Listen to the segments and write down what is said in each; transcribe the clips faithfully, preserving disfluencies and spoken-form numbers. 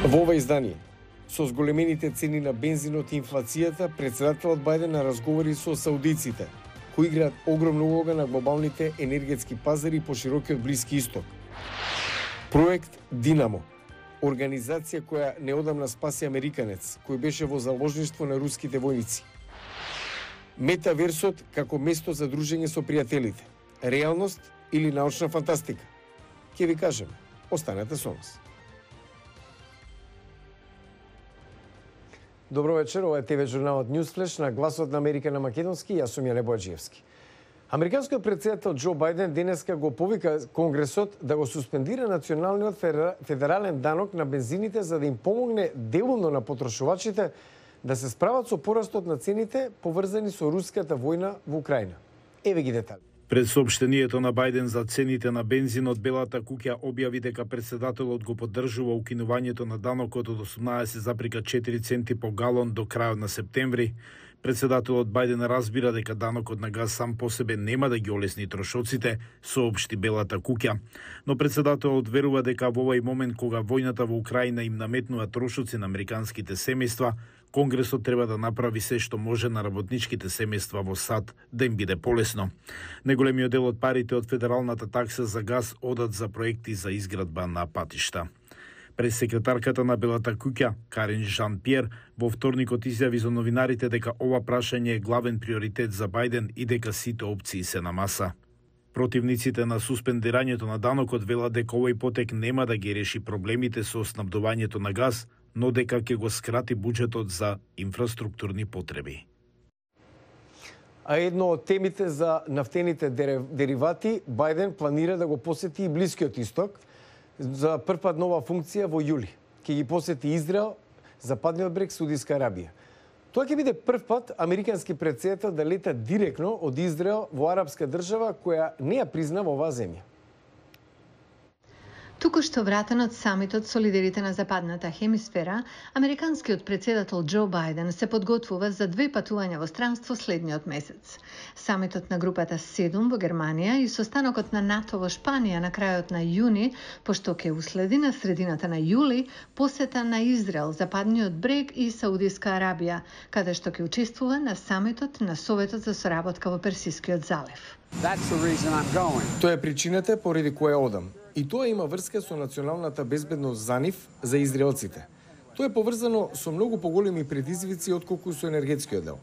Во ова издание, со зголемените цени на бензинот и инфлацијата, председателот Бајден на разговори со саудиците, кои играат огромна улога на глобалните енергетски пазари по широкиот Блиски Исток. Проект Динамо, организација која неодамна спаси американец, кој беше во заложништво на руските војници. Метаверсот како место за дружење со пријателите. Реалност или научна фантастика? Ќе ви кажеме. Останете со нас. Добро вечер, ова е ТВ журналот Newsflash на Гласот на Америка на македонски, јас сум Јеле Бојаджиевски. Американскиот председател Џо Бајден денеска го повика Конгресот да го суспендира националниот федерален данок на бензините за да им помогне делумно на потрошувачите да се справат со порастот на цените поврзани со руската војна во Украина. Еве ги детали. Пред соопштението на Бајден за цените на бензинот, Белата куќа објави дека председателот го поддржува укинувањето на данокот од осумнаесет запирка четири центи по галон до крајот на септември. Председателот Бајден разбира дека данокот на газ сам по себе нема да ги олесни трошоците, соопшти Белата куќа. Но председателот верува дека во овој момент кога војната во Украина им наметнува трошоци на американските семејства, Конгресот треба да направи се што може на работничките семејства во САД да им биде полесно. Неголемиот дел од парите од федералната такса за газ одат за проекти за изградба на патишта. Пресекретарката на Белата куќа, Карин Жан-Пиер, во вторникот изјави за новинарите дека ова прашање е главен приоритет за Бајден и дека сите опции се на маса. Противниците на суспендирањето на данокот велат дека овој потек нема да ги реши проблемите со снабдувањето на газ, но дека ќе го скрати буџетот за инфраструктурни потреби. А едно од темите за нафтените деривати, Бајден планира да го посети и Блискиот Исток за прв пат нова функција во јули. Ќе ги посети Израел, Западниот брег, Саудиска Арабија. Тоа ќе биде прв пат американски председател да лета директно од Израел во арапска држава која не ја признава оваа земја. Туку што вратен од самитот со лидерите на западната хемисфера, американскиот председател Џо Бајден се подготвува за две патувања во странство следниот месец. Самитот на групата седум во Германија и состанокот на НАТО во Шпанија на крајот на јуни, пошто ќе уследи на средината на јули посета на Израел, Западниот брег и Саудиска Арабија, каде што ќе учествува на самитот на Советот за соработка во Персискиот залив. Тоа е причината поради која одам. И тоа има врска со националната безбедност за нив, за израелците. Тоа е поврзано со многу поголеми предизвици отколку со енергетскиот дел.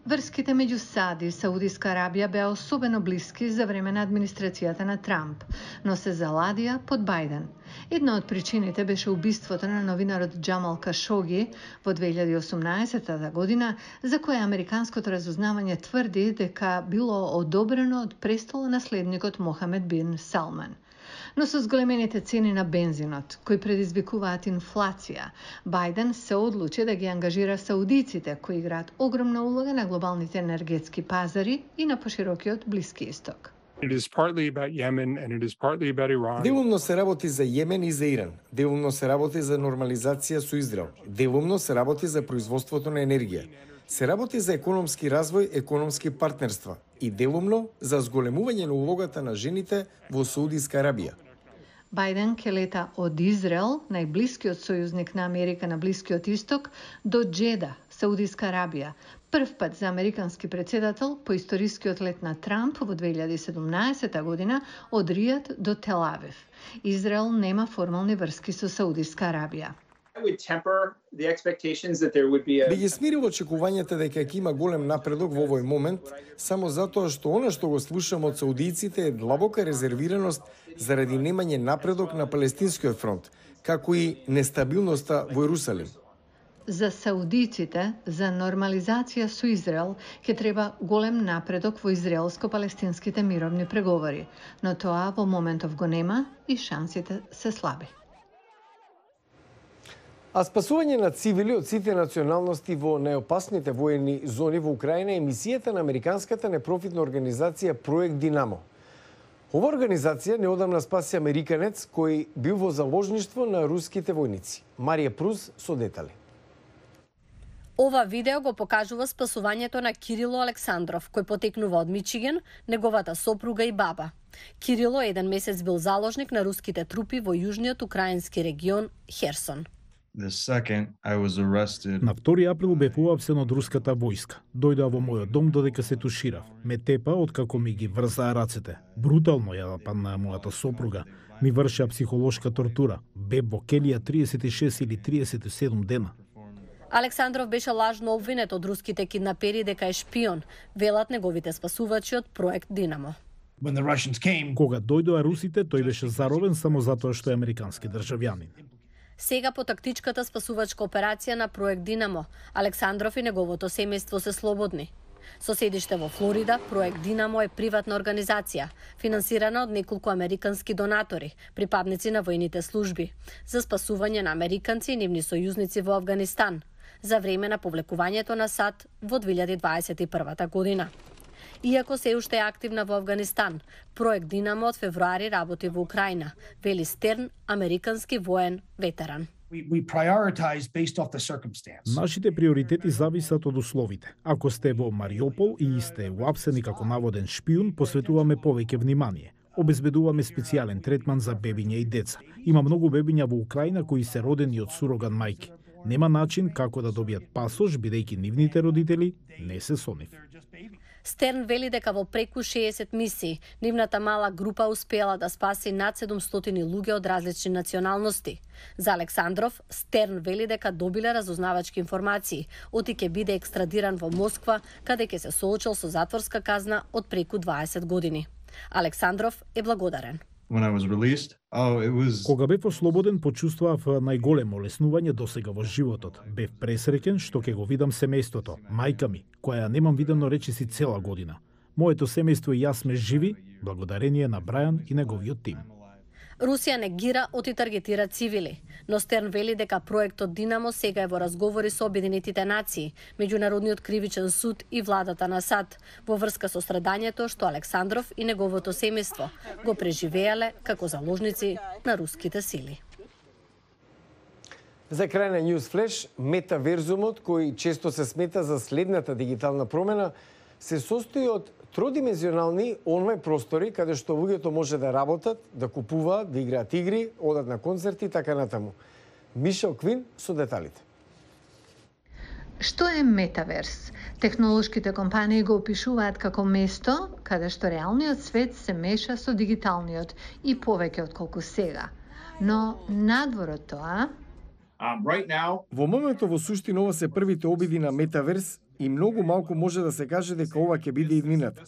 Врските меѓу САД и Саудиска Арабија беа особено блиски за време на администрацијата на Трамп, но се заладија под Бајден. Една од причините беше убиството на новинарот Џамал Кашоги во две илјади и осумнаесета година, за која американското разузнавање тврди дека било одобрено од престолонаследникот Мохамед бин Салман. Но со зголемените цени на бензинот, кои предизвикуваат инфлација, Бајден се одлучи да ги ангажира саудиците, кои играат огромна улога на глобалните енергетски пазари и на поширокиот Блиски Исток. Делумно се работи за Јемен и за Иран. Делумно се работи за нормализација со Израел. Делумно се работи за производството на енергија. Се работи за економски развој, економски партнерства и делумно за зголемување на улогата на жените во Саудиска Арабија. Бајден ќе лета од Израел, најблискиот сојузник на Америка на Блискиот Исток, до Џеда, Саудиска Арабија. Прв пат за американски председател по историскиот лет на Трамп во две илјади и седумнаесета година од Ријад до Тел Авив. Израел нема формални врски со Саудиска Арабија. Би ги смирил очекувањата дека ќе има голем напредок во овој момент, само затоа што она што го слушам од саудиците е длабока резервираност заради немање напредок на Палестинскиот фронт, како и нестабилноста во Јерусалим. За саудиците, за нормализација со Израел, ќе треба голем напредок во израелско-палестинските мировни преговори, но тоа во моментов го нема и шансите се слаби. А спасување на цивили од сите националности во најопасните воени зони во Украина е мисијата на американската непрофитна организација Проект Динамо. Ова организација неодамна спаси американец кој бил во заложништво на руските војници. Марија Пруз со детали. Ова видео го покажува спасувањето на Кирило Александров, кој потекнува од Мичиген, неговата сопруга и баба. Кирило еден месец бил заложник на руските трупи во јужниот украински регион Херсон. The second, I was arrested. На втори април бев уапсен од руската војска. Дојдоа во мојот дом додека се туширав. Ме тепа откако ми ги врзаа рацете. Брутално ја нападнаа мојата сопруга. Ми вршеа психолошка тортура. Бев во келија триесет и шест или триесет и седум дена. Александров беше лажно обвинет од руските киднапери дека е шпион, велат неговите спасувачи од проект Динамо. Кога дојдоа русите, тој беше заробен само затоа што е американски државјанин. Сега по тактичката спасувачка операција на проект Динамо, Александров и неговото семејство се слободни. Со седиште во Флорида, проект Динамо е приватна организација, финансирана од неколку американски донатори, припадници на војните служби, за спасување на американци и нивни сојузници во Авганистан, за време на повлекувањето на САД во две илјади дваесет и прва година. Иако се уште е активна во Авганистан, проект Динамо од февруари работи во Украина, вели Стерн, американски воен ветеран. Нашите приоритети зависат од условите. Ако сте во Мариупол и сте уапсени како наводен шпион, посветуваме повеќе внимание. Обезбедуваме специјален третман за бебиња и деца. Има многу бебиња во Украина кои се родени од суроган мајки. Нема начин како да добијат пасош, бидејќи нивните родители не се со нив. Стерн вели дека во преку шеесет мисии, нивната мала група успеала да спаси над седумстотини луѓе од различни националности. За Александров, Стерн вели дека добиле разузнавачки информации, оти ќе биде екстрадиран во Москва, каде ќе се соочил со затворска казна од преку дваесет години. Александров е благодарен. When I was released, oh, it was... Кога бев ослободен, почувствував најголемо олеснување досега во животот. Бев пресреќен што ќе го видам семејството, мајка ми, која ја немам видено речиси цела година. Моето семејство и јас сме живи, благодарение на Брајан и неговиот тим. Русија негира оти таргетира цивили, но Стерн вели дека проектот Динамо сега е во разговори со Обединетите нации, Меѓународниот кривичен суд и владата на САД во врска со страдањето што Александров и неговото семејство го преживеале како заложници на руските сили. За крај на News Flash, метаверзумот, кој често се смета за следната дигитална промена, се состои од тродимензионални онлайн простори каде што луѓето може да работат, да купуваат, да играат игри, одат на концерти и така натаму. Мишел Квин со деталите. Што е метаверс? Технолошките компании го опишуваат како место каде што реалниот свет се меша со дигиталниот и повеќе отколку сега. Но надвор од тоа, Um, right now... Во моментот во суштина ова се првите обиди на метаверс и многу малку може да се каже дека ова ќе биде иднината.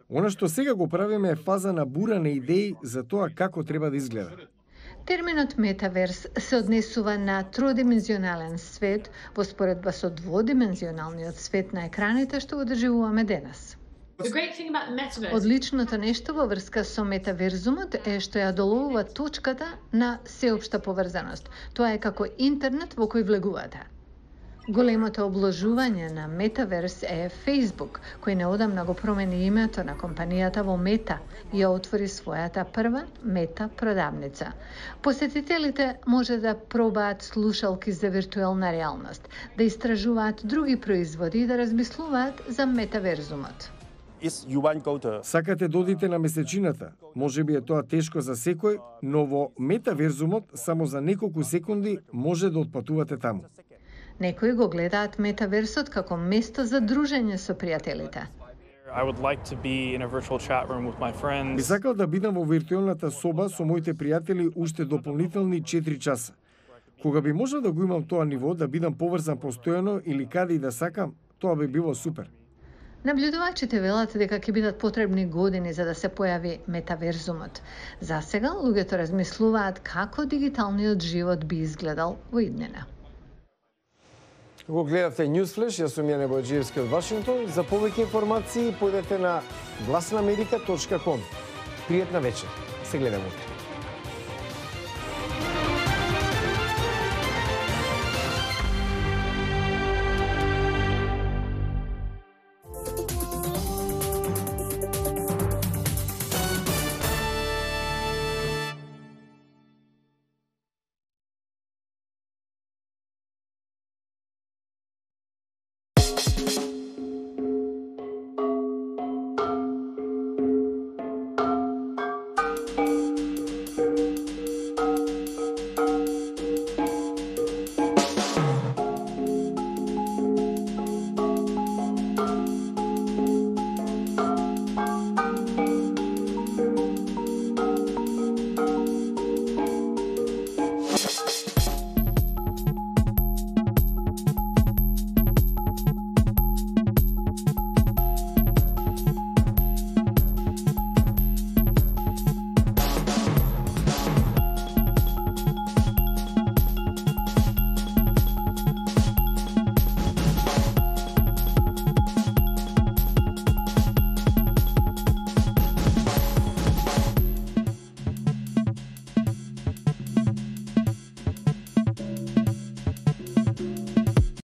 Она што сега го правиме е фаза на бура на идеи за тоа како треба да изгледа. терминот метаверс се однесува на тродимензионален свет во споредба со дводимензионалниот свет на екраните што го доживуваме денес. Одличното нешто во врска со метаверзумот е што ја доловува точката на сеопшта поврзаност. Тоа е како интернет во кој влегувате. Големото обложување на метаверс е Facebook, кој неодамна го промени името на компанијата во Мета и ја отвори својата прва Мета продавница. Посетителите може да пробаат слушалки за виртуелна реалност, да истражуваат други производи и да размислуваат за метаверзумот. Сакате да одите на месечината? Може би е тоа тешко за секој, но во метаверзумот само за неколку секунди може да отпатувате таму. Некои го гледаат метаверсот како место за дружење со пријателите. Би сакал да бидам во виртуелната соба со моите пријатели уште дополнителни четири часа. Кога би можел да го имам тоа ниво, да бидам поврзан постојано или каде и да сакам, тоа би било супер. Наблюдувачите велат дека ќе бидат потребни години за да се појави метаверзумот. За сега, луѓето размислуваат како дигиталниот живот би изгледал во иднина. Го гледавте Newsflash, јас сум Јане Бојаджиевски од Вашингтон. За повеќе информации појдете на глас на америка точка ком. Пријатна вечер. Се гледаме утре.